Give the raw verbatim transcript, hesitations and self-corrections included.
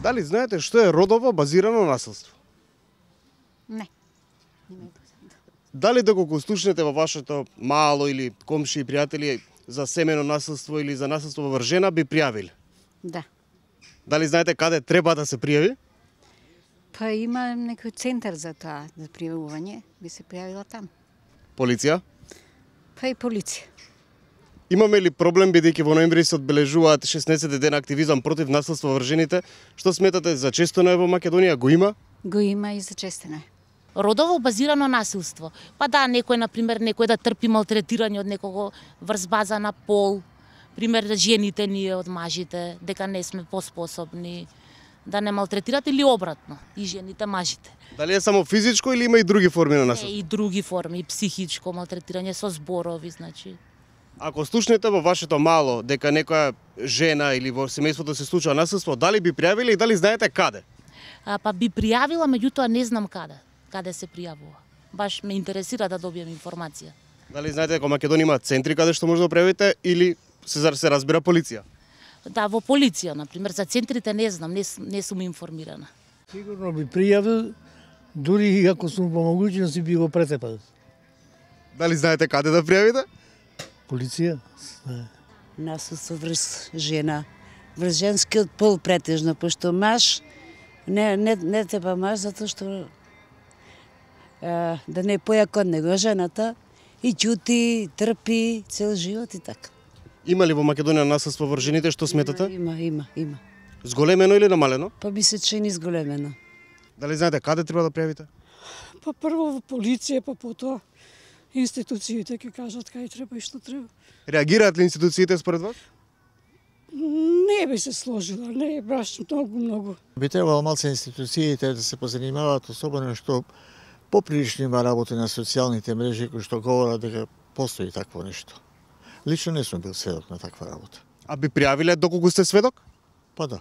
Дали знаете што е родово базирано насилство? Не. Не ме познато. Дали доколку слушнете во вашето мало или комши и пријатели за семено насилство или за насилство во врз би пријавиле? Да. Дали знаете каде треба да се пријави? Па има некој центар за тоа, за пријавување, би се пријавила там. Полиција? Па и полиција. Имаме ли проблем бидејќи во ноември се одбележуваат шеснаесет ден активизам против насилство во врз? Што сметате за честено е во Македонија? Го има? Го има и зачестено е. Родово базирано насилство. Па да, некој, например, некој да трпи малтретирање од некого врз база на пол, пример жените ние од мажите, дека не сме поспособни да не малтретират или обратно, и жените мажите. Дали е само физичко или има и други форми на насилство? Е, и други форми, и психичко малтретирање со зборови, значи. Ако слушнете во вашето мало дека некоја жена или во семејството се случува насилство, дали би пријавиле и дали знаете каде? А, па би пријавила, меѓутоа не знам каде, каде се пријавува. Баш ме интересира да добијам информација. Дали знаете дека Македонија има центри каде што може да пријавите или се се разбира полиција? Да, во полиција, например, за центрите не знам, не, не сум информирана. Сигурно би пријавил, дури и ако сум по могуćности би го претепал. Дали знаете каде да пријавите? Полиција? Насилство врз жена, врз женскиот пол претежно, пошто маж не не не треба маж затоа што а, да не појака од него жената и ќути, трпи цел живот и така. Има ли во Македонија насилство врз жените, што сметате? Има, има, има. Зголемено или намалено? Па би се чини зголемено. Дали знаете каде треба да пријавите? Па прво во полиција, па потоа институциите ќе кажат кај треба и што треба. Реагираат ли институциите според вас? Не би се сложила, не е баш многу, многу. Би требало малце институциите да се позанимаваат, особено што поприлично има работи на социјалните мрежи кои што говорат дека постои такво нешто. Лично не сум бил сведок на таква работа. А би пријавиле доколку сте сведок? Па да.